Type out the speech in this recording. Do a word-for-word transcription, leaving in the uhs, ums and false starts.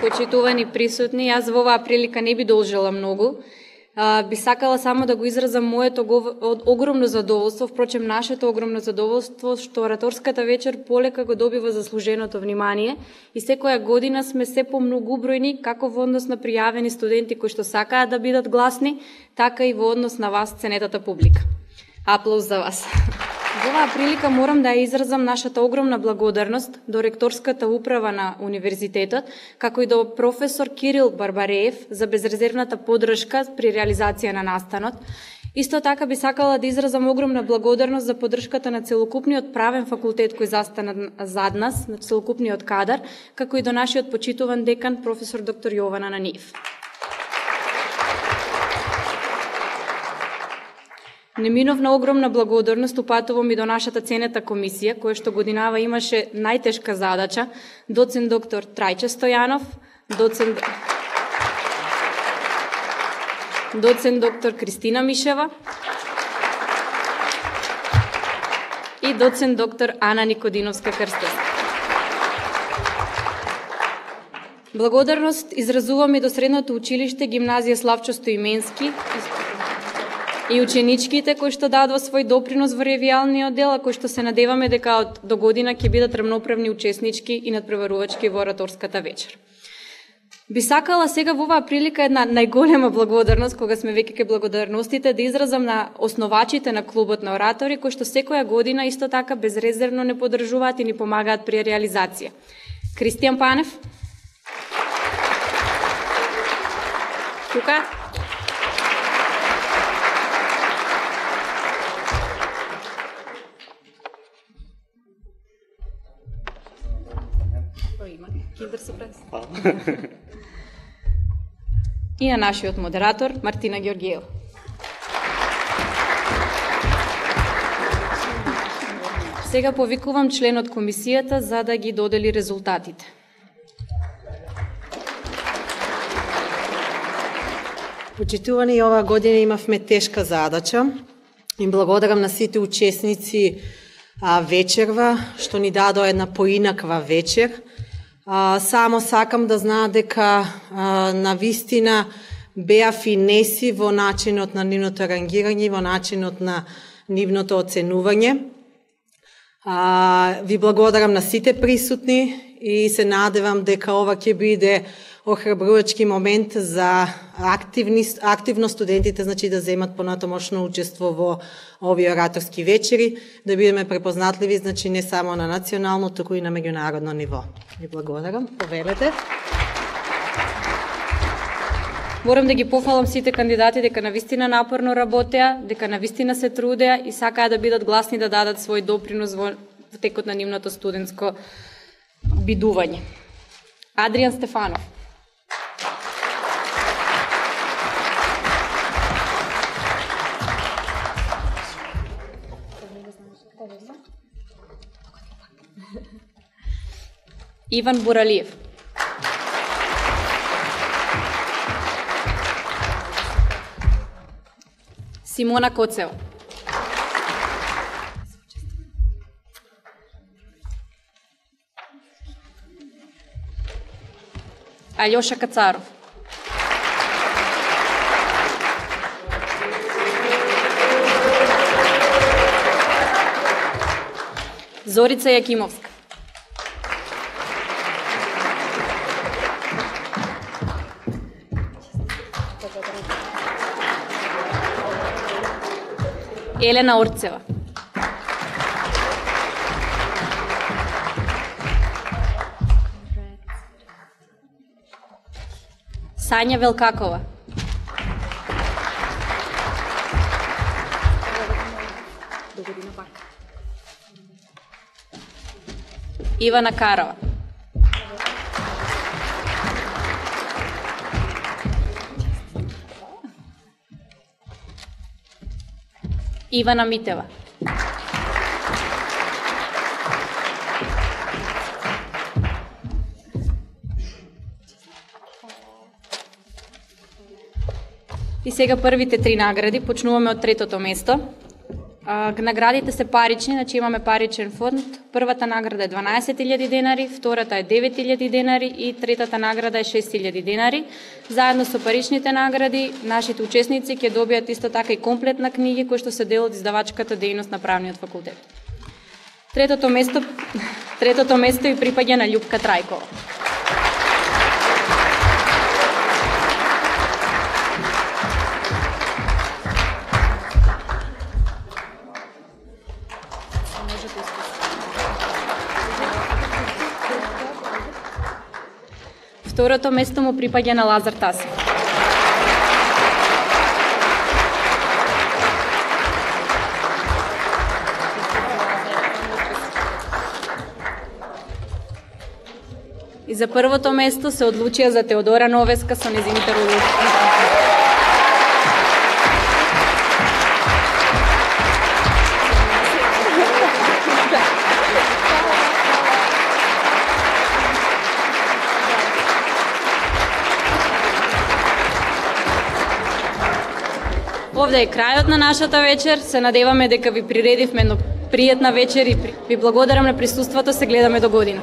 почитувани присутни, јас во оваа прилика не би должела многу. А, би сакала само да го изразам моето огромно задоволство, впрочем нашето огромно задоволство, што ораторската вечер полека го добива заслуженото внимание и секоја година сме се помногубројни, како во однос на пријавени студенти кои што сакаат да бидат гласни, така и во однос на вас, ценетата публика. Аплауз за вас. Во оваа прилика морам да ја изразам нашата огромна благодарност до ректорската управа на универзитетот, како и до професор Кирил Барбареев за безрезервната поддршка при реализација на настанот. Исто така би сакала да изразам огромна благодарност за поддршката на целокупниот правен факултет кој застана зад нас, на целокупниот кадар, како и до нашиот почитуван декан професор доктор Јована Наниев. Неминовна огромна благодарност упатувам и до нашата ценета комисија, која што годинава имаше најтешка задача, доцент доктор Трајче Стојанов, доцент, доцент доктор Кристина Мишева и доцент доктор Ана Никодиновска-Крстевска. Благодарност изразувам и до Средното училиште гимназија Славчо Стоименски и ученичките кои што дадоа свој допринос во ревијалниот дел, а кои што се надеваме дека од до година ќе бидат рамноправни учеснички и надпреварувачки во ораторската вечер. Би сакала сега во оваа прилика една најголема благодарност, кога сме веќе ке благодарностите, да изразам на основачите на клубот на оратори, кои што секоја година исто така безрезервно не поддржуваат и ни помагаат при реализација. Кристијан Панев. Тука. И на нашиот модератор Мартина Ѓорѓиева. Сега повикувам членот комисијата за да ги додели резултатите. Почитувани, оваа година имавме тешка задача. Им благодарам на сите учесници а, вечерва, што ни дадоа една поинаква вечер. А, само сакам да знаат дека а, на вистина беа финеси во начинот на нивното рангирање, во начинот на нивното оценување. А, ви благодарам на сите присутни и се надевам дека ова ќе биде охрабрувачки момент за активни, активно студентите, значи да земат понатомошно учество во овие ораторски вечери, да бидеме препознатливи, значи не само на национално, туку и на меѓународно ниво. Ви благодарам. Повелете. Морам да ги пофалам сите кандидати дека навистина напорно работеа, дека навистина се трудеа и сакаа да бидат гласни да дадат свој допринос во текот на нивното студентско бидување. Адриан Стефанов. Иван Буралиев. Симона Коцева. Алјоша Кацаров. Зорица Јакимовска. Елена Орцева. Сања Велкакова. Ивана Карова. Ивана Митева. И сега првите три награди, почнуваме од третото место. А, наградите се парични, значи имаме паричен фонд. Првата награда е дванаесет илјади денари, втората е девет илјади денари и третата награда е шест илјади денари. Заедно со паричните награди, нашите учесници ќе добијат исто така и комплет на книги кои што се дел од издавачката дејност на правниот факултет. Третото место, третото место и припаѓа на Љупка Трајкова. Второто место му припаѓа на Лазар Тасев. И за првото место се одлучија за Теодора Новеска со нејзините родители. Овде е крајот на нашата вечер. Се надеваме дека ви приредивме едно пријатна вечер и ви благодарам на присуството. Се гледаме до година.